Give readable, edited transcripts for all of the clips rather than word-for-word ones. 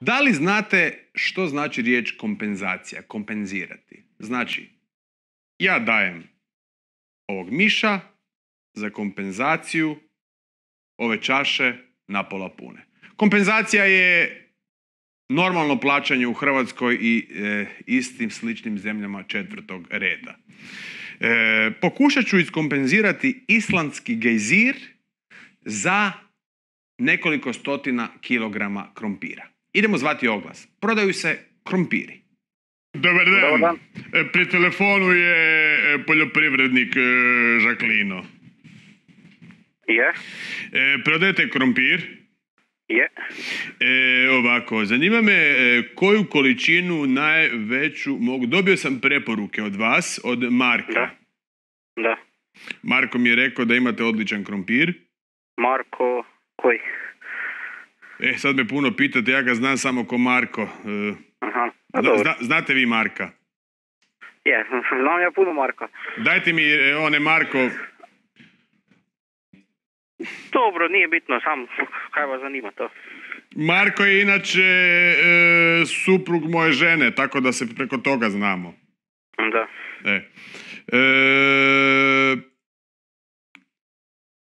Da li znate što znači riječ kompenzacija, kompenzirati? Znači, ja dajem ovog miša za kompenzaciju ove čaše napola pune. Kompenzacija je normalno plaćanje u Hrvatskoj i istim sličnim zemljama četvrtog reda. Pokušat ću iskompenzirati islandski gejzir za nekoliko stotina kilograma krompira. Idemo zvati oglas. Prodaju se krompiri. Dobar dan. Pri telefonu je poljoprivrednik Žaklino. Je. Prodajete krompir? Je. Ovako, zanima me koju količinu najveću mogu... Dobio sam preporuke od vas, od Marka. Da. Marko mi je rekao da imate odličan krompir. Marko, koji? Sad me puno pitate, ja ga znam samo ko Marko. Aha, Znate vi Marka? Je, znam ja puno Marka. Dajte mi one Marko... Dobro, nije bitno, sam kaj vas zanima to. Marko je inače suprug moje žene, tako da se preko toga znamo. Da.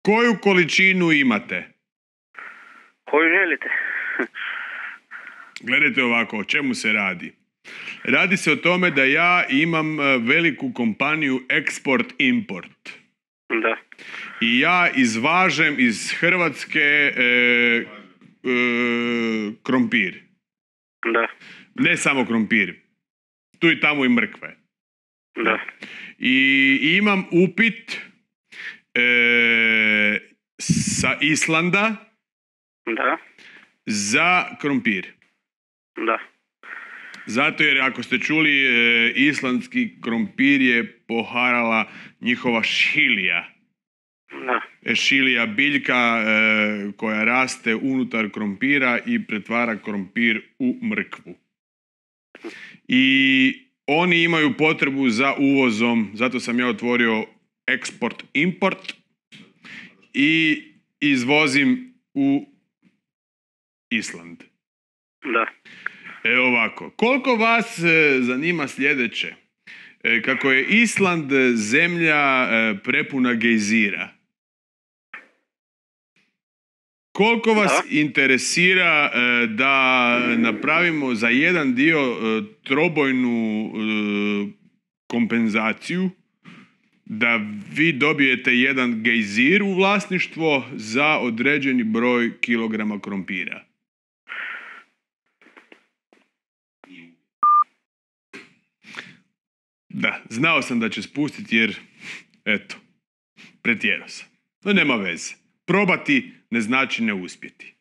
Koju količinu imate? Koju želite? Gledajte ovako, o čemu se radi? Radi se o tome da ja imam veliku kompaniju Export-Import. Da. I ja izvažem iz Hrvatske krompir. Da. Ne samo krompir. Tu i tamo i mrkve. Da. I imam upit sa Islanda Da. za krompir. Da. Zato jer ako ste čuli, islandski krompir je poharala njihova šilija. Da. Šilija biljka koja raste unutar krompira i pretvara krompir u mrkvu. I oni imaju potrebu za uvozom, zato sam ja otvorio Export-Import i izvozim u Island. Da. Ovako, koliko vas zanima sljedeće? Kako je Island zemlja prepuna gejzira, koliko vas interesira da napravimo za jedan dio trobojnu kompenzaciju, da vi dobijete jedan gejzir u vlasništvo za određeni broj kilograma krompira? Da, znao sam da će spustiti jer, eto, pretjerao sam. No nema veze. Probati ne znači ne uspjeti.